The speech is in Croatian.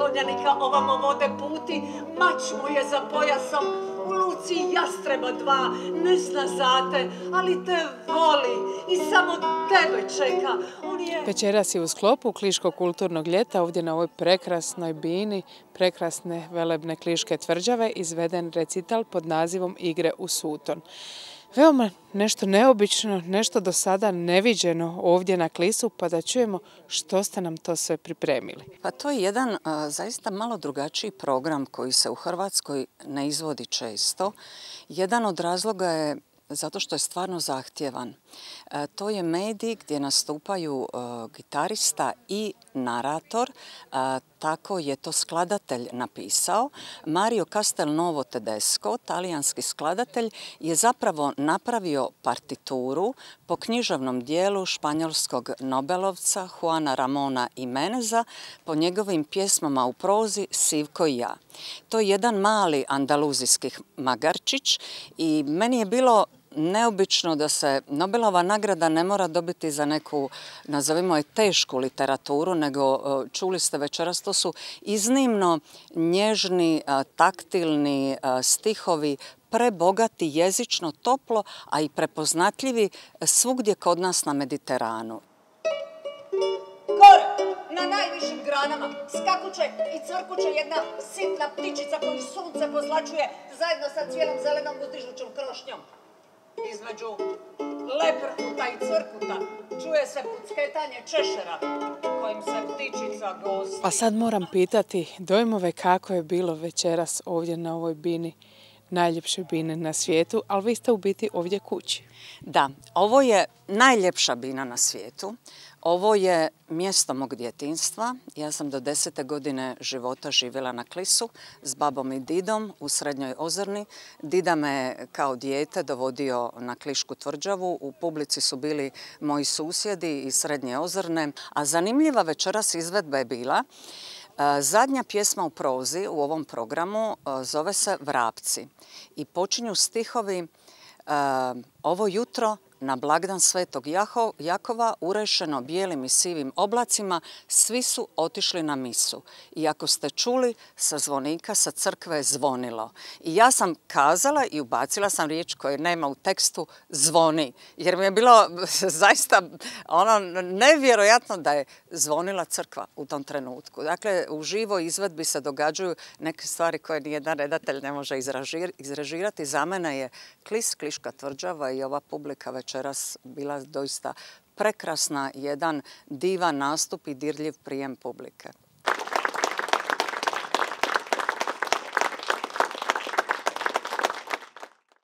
konjanika ovamo vode puti, mač mu je za pojasom, u luci jastreba dva, ne zna za te, ali te voli i samo tebe čeka. Večeras je u sklopu Kliškog kulturnog ljeta ovdje na ovoj prekrasnoj bini, prekrasne velebne Kliške tvrđave, izveden recital pod nazivom Igre u Suton. Veoma nešto neobično, nešto do sada neviđeno ovdje na Klisu, pa da čujemo što ste nam to sve pripremili. Pa to je jedan zaista malo drugačiji program koji se u Hrvatskoj ne izvodi često. Jedan od razloga je zato što je stvarno zahtjevan. To je medij gdje nastupaju gitarista i narator, tako je to skladatelj napisao. Mario Castelnuovo Tedesco, talijanski skladatelj, je zapravo napravio partituru po književnom dijelu španjolskog nobelovca Juana Ramona Jimeneza po njegovim pjesmama u prozi Sivko i ja. To je jedan mali andaluzijski magarčić i meni je bilo neobično da se Nobelova nagrada ne mora dobiti za neku, nazovimo je, tešku literaturu, nego čuli ste večeras, to su iznimno nježni, taktilni stihovi, prebogati, jezično, toplo, a i prepoznatljivi svugdje kod nas na Mediteranu. Gore, na najvišim granama, skakuće i crkuće jedna sitna ptičica koju sunce pozlačuje zajedno sa cijelom zelenom uzdižućom krošnjom. Između leprkuta i crkuta čuje se pucketanje češera kojim se ptičica gosti. A sad moram pitati dojmove kako je bilo večeras ovdje na ovoj bini, najljepšoj bini na svijetu, ali vi ste u biti ovdje kući. Da, ovo je najljepša bina na svijetu. Ovo je mjesto mog djetinjstva. Ja sam do 10. godine života živjela na Klisu s babom i didom u Srednjoj Ozrni. Dida me kao dijete dovodio na Klišku tvrđavu. U publici su bili moji susjedi iz Srednje Ozrne. A zanimljiva večeras izvedba je bila zadnja pjesma u prozi u ovom programu, zove se Vrapci. I počinju stihovi: ovo jutro na blagdan Svetog Jakova, urešeno bijelim i sivim oblacima, svi su otišli na misu. I ako ste čuli, sa zvonika sa crkve je zvonilo. I ja sam kazala i ubacila sam riječ koje nema u tekstu, zvoni. Jer mi je bilo zaista nevjerojatno da je zvonila crkva u tom trenutku. Dakle, u živoj izvedbi se događaju neke stvari koje nijedan redatelj ne može izrežirati. Za mene je Klis, Kliška tvrđava i ova publika večeras bila doista prekrasna, jedan divan nastup i dirljiv prijem publike.